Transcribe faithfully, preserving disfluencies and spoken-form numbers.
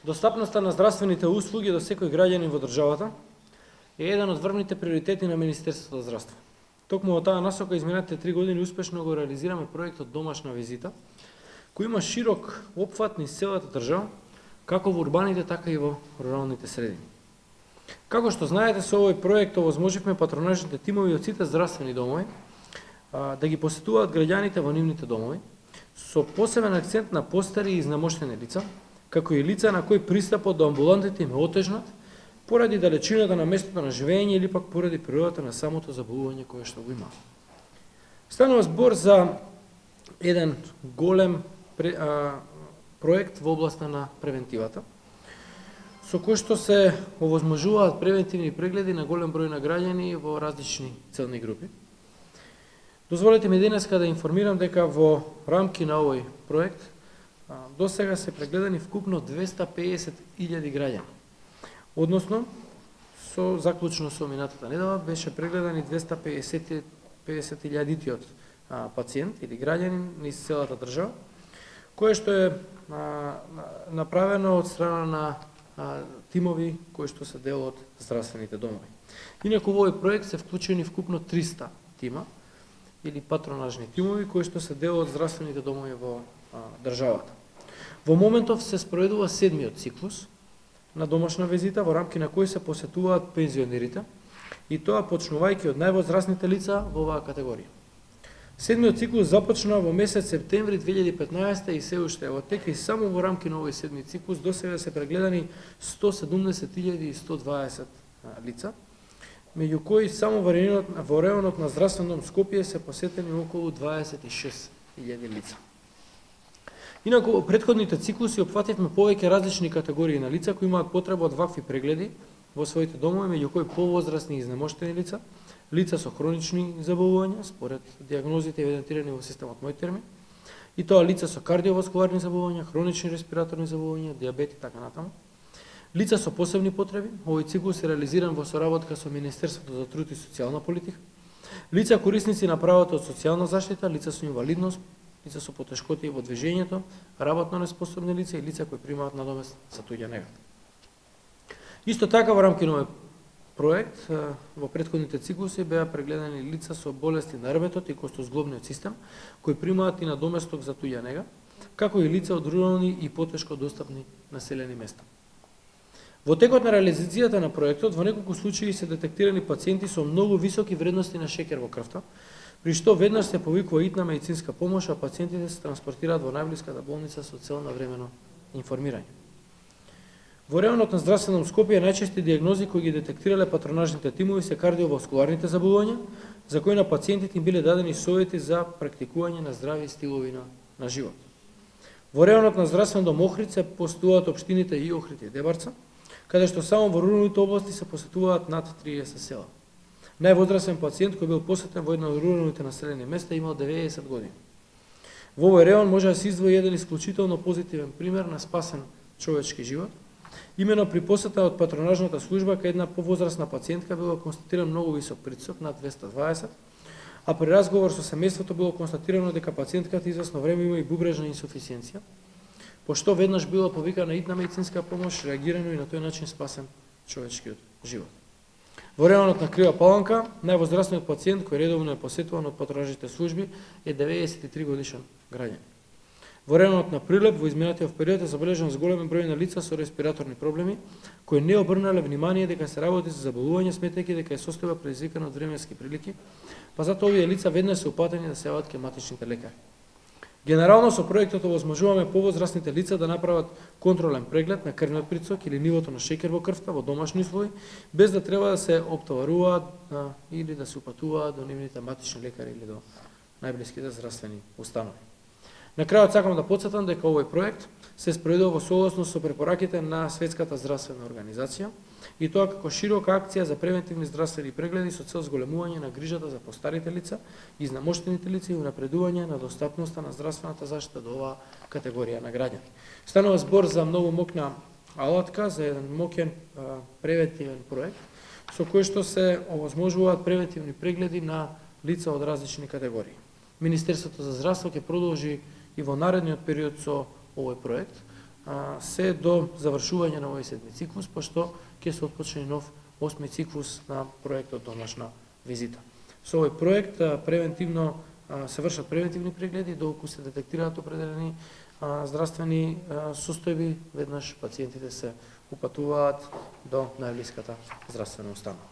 Достапноста на здравствените услуги до секој граѓанин во државата е еден од врвните приоритети на Министерството за здравство. Токму во таа насока изминатите три години успешно го реализираме проектот Домашна визита, кој има широк опфат низ целата држава, како во урбаните, така и во руралните средини. Како што знаете, со овој проект овозможивме патронажните тимови од сите здравствени домови а, да ги посетуваат граѓаните во нивните домови, со посебен акцент на постари и изнемоштени лица, како и лица на кои пристапот до амбулантите им е отежнат, поради далечината на местото на живење или пак поради природата на самото заболување кое што го има. Станува збор за еден голем а, проект во областа на превентивата, со кој што се овозможуваат превентивни прегледи на голем број на граѓани во различни целни групи. Дозволете ми денеска да информирам дека во рамки на овој проект до сега се прегледани вкупно двеста пеесет илјади граѓани. Односно, со заклучно со минатата недела беше прегледани двеста пеесет илјадитиот пациент или граѓанин низ целата држава, кое што е а, направено од страна на а, тимови кои што се дел од здравствените домови. Инаку во овој проект се вклучени вкупно триста тима или патронажни тимови кои што се дел од здравствените домови во а, државата. Во моментов се спроведува седмиот циклус на домашна визита, во рамки на кои се посетуваат пензионерите, и тоа почнувајќи од највозрастните лица во оваа категорија. Седмиот циклус започна во месец септември две илјади и петнаесетта и се уште во тек, и само во рамки на овој седми циклус до сега се прегледани сто седумдесет илјади и сто дваесет лица, меѓу кои само во районот, во районот на здравствен дом Скопје се посетени околу дваесет и шест илјади лица. Инаку, во претходните циклуси опфативме повеќе различни категории на лица кои имаат потреба од вакви прегледи во своите домови, меѓу кои повозрастни и изнемоштени лица, лица со хронични заболувања, според диагнозите евидентирани во системот Мојтерми, и тоа лица со кардиоваскуларни заболувања, хронични респираторни заболувања, диабет и така натаму. Лица со посебни потреби, овој циклус е реализиран во соработка со Министерството за труд и социјална политика. Лица корисници на правото од социјална заштита, лица со инвалидност, лица со потешкоти во движењето, работно неспособни лица и лица кои примаат надомест за туѓа нега. Исто така во рамки на овој проект во претходните циклуси беа прегледани лица со болести на ребетот и костозглобниот систем кои примаат и надоместок за туѓа нега, како и лица од рурални и потешко достапни населени места. Во текот на реализацијата на проектот во неколку случаи се детектирани пациенти со многу високи вредности на шеќер во крвта, при што веднаш се повикува итна медицинска помош, а пациентите се транспортираат во најблиската болница со цел на времено информирање. Во районот на здравствен дом Скопје најчести диагнози кои ги детектирале патронажните тимови се кардиоваскуларните заболувања, за кои на пациентите им биле дадени совети за практикување на здрави стилови на, на живот. Во районот на здравствен дом Охрид се посетуваат општините и Охрид и Дебарца, каде што само во руралните области се посетуваат над триесет села. Највозрастен пациент кој бил посетен во една од руралните населени места имал деветдесет години. Во овој реон може да се издвои еден исклучително позитивен пример на спасен човечки живот. Имено при посета од патронажната служба кај една повозрастна пациентка било констатиран многу висок притисок над двеста дваесет, а при разговор со семејството било констатирано дека пациентката извесно време има и бубрежна инсуфициенција, пошто веднаш било повикана итна медицинска помош, реагирано и на тој начин спасен човечкиот живот. Во районот на Крива Паланка, највозрастниот пациент кој редовно е посетуван од патронажните служби е деветдесет и три годишен граѓанин. Во районот на Прилеп во изминатиот период е забележан зголемен број на лица со респираторни проблеми кои не обрнале внимание дека се работи за заболување, сметајќи дека е состојба предизвикана од временски прилики, па затоа овие лица веднаш се упатени да се јават кај матичните лекари. Генерално со проектот овозможуваме повозрастните лица да направат контролен преглед на крвниот притисок или нивото на шеќер во крвта во домашни услови, без да треба да се оптоваруваат а, или да се упатуваат до нивните матични лекари или до најблиските здравствени установи. На крајот сакам да потсетам дека овој проект се спроведува во согласност со препораките на Светската здравствена организација и тоа како широка акција за превентивни здравствени прегледи со цел зголемување на грижата за постарите лица, изнемоштените лица и унапредување на достапноста на здравствената заштита до оваа категорија на граѓани. Станува збор за многу мокна алатка, за еден моќен а, превентивен проект со кој што се овозможуваат превентивни прегледи на лица од различни категории. Министерството за здравство ќе продолжи и во наредниот период со овој проект, се до завршување на овој седми циклус, пошто ќе се отпочне нов осми циклус на проектот домашна визита. Со овој проект превентивно се вршат превентивни прегледи доколку се детектираат определени здравствени состојби, веднаш пациентите се упатуваат до најблиската здравствена установа.